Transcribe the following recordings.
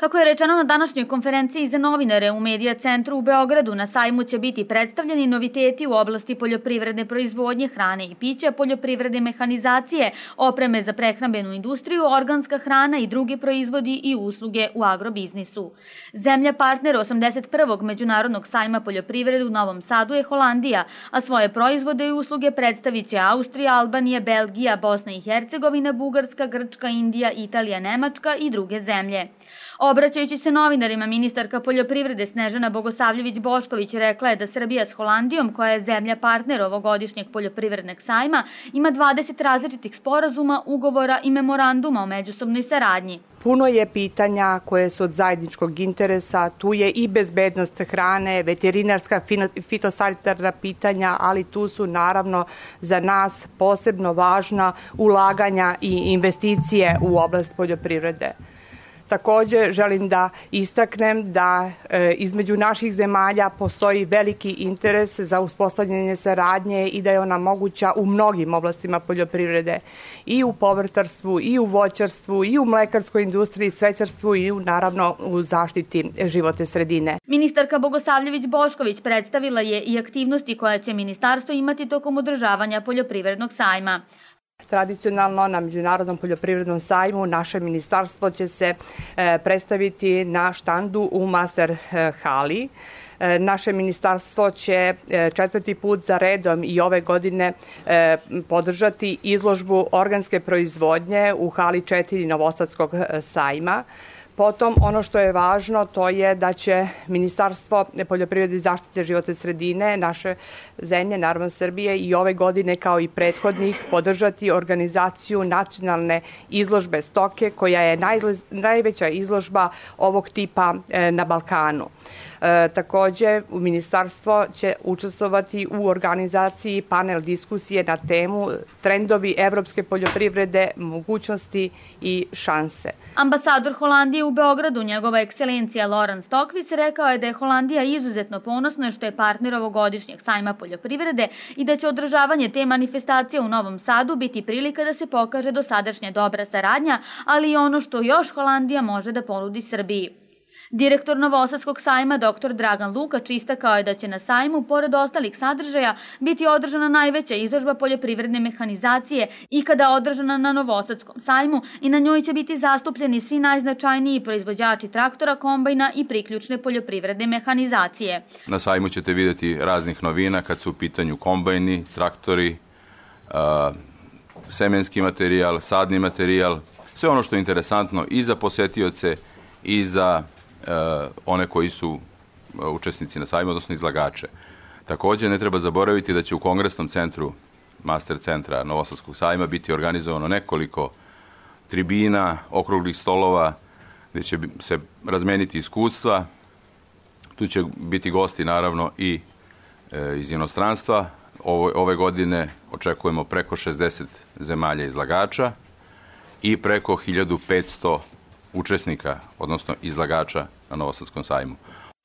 Kako je rečeno na današnjoj konferenciji za novinare u Medija centru u Beogradu, na sajmu će biti predstavljeni noviteti u oblasti poljoprivredne proizvodnje, hrane i pića, poljoprivredne mehanizacije, opreme za prehrambenu industriju, organska hrana i drugi proizvodi i usluge u agrobiznisu. Zemlja partner 81. Međunarodnog sajma poljoprivrede u Novom Sadu je Holandija, a svoje proizvode i usluge predstavit će Austrija, Albanija, Belgija, Bosna i Hercegovina, Bugarska, Grčka, Indija, Italija, Nemačka i druge zemlje. Obraćajući se novinarima, ministarka poljoprivrede Snežana Bogosavljević-Bošković rekla je da Srbija s Holandijom, koja je zemlja partner ovogodišnjeg poljoprivrednog sajma, ima 20 različitih sporazuma, ugovora i memoranduma o međusobnoj saradnji. Puno je pitanja koje su od zajedničkog interesa, tu je i bezbednost hrane, veterinarska, fitosanitarna pitanja, ali tu su naravno za nas posebno važna ulaganja i investicije u oblast poljoprivrede. Takođe, želim da istaknem da između naših zemalja postoji veliki interes za uspostavljanje saradnje i da je ona moguća u mnogim oblastima poljoprivrede, i u povrtarstvu, i u voćarstvu, i u mlekarskoj industriji, cvećarstvu i naravno u zaštiti životne sredine. Ministarka Bogosavljević-Bošković predstavila je i aktivnosti koje će ministarstvo imati tokom održavanja poljoprivrednog sajma. Tradicionalno na Međunarodnom poljoprivrednom sajmu naše ministarstvo će se predstaviti na štandu u Master hali. Naše ministarstvo će 4. put za redom i ove godine podržati izložbu organske proizvodnje u hali 4 Novosadskog sajma. Potom, ono što je važno, to je da će Ministarstvo poljoprivrede i zaštite životne sredine naše zemlje, naravno Srbije, i ove godine kao i prethodnih podržati organizaciju nacionalne izložbe stoke, koja je najveća izložba ovog tipa na Balkanu. Takođe, ministarstvo će učestvovati u organizaciji panel diskusije na temu trendovi evropske poljoprivrede, mogućnosti i šanse. Ambasador Holandije u Beogradu, njegova ekscelencija Laurens Stokvis, rekao je da je Holandija izuzetno ponosna što je partner ovogodišnjeg sajma poljoprivrede i da će održavanje te manifestacije u Novom Sadu biti prilika da se pokaže dosadašnja dobra saradnja, ali i ono što još Holandija može da ponudi Srbiji. Direktor Novosadskog sajma dr. Dragan Lukač istakao je da će na sajmu, pored ostalih sadržaja, biti održana najveća izložba poljoprivredne mehanizacije ikada održana na Novosadskom sajmu i na njoj će biti zastupljeni svi najznačajniji proizvođači traktora, kombajna i priključne poljoprivredne mehanizacije. Na sajmu ćete vidjeti raznih novina kad su u pitanju kombajni, traktori, semenski materijal, sadni materijal, sve ono što je interesantno i za posetioce i za one koji su učesnici na sajmu, odnosno izlagače. Takođe, ne treba zaboraviti da će u Kongresnom centru Master centra Novosadskog sajma biti organizovano nekoliko tribina, okruglih stolova, gde će se razmeniti iskustva. Tu će biti gosti, naravno, i iz inostranstva. Ove godine očekujemo preko 60 zemalja izlagača i preko 1500 učesnika, odnosno izlagača na Novosadskom sajmu.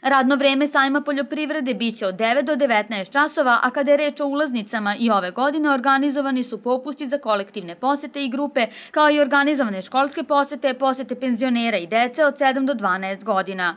Radno vreme sajma poljoprivrede biće od 9 do 19 časova, a kada je reč o ulaznicama i ove godine organizovani su popusti za kolektivne posete i grupe, kao i organizovane školske posete, posete penzionera i dece od 7 do 12 godina.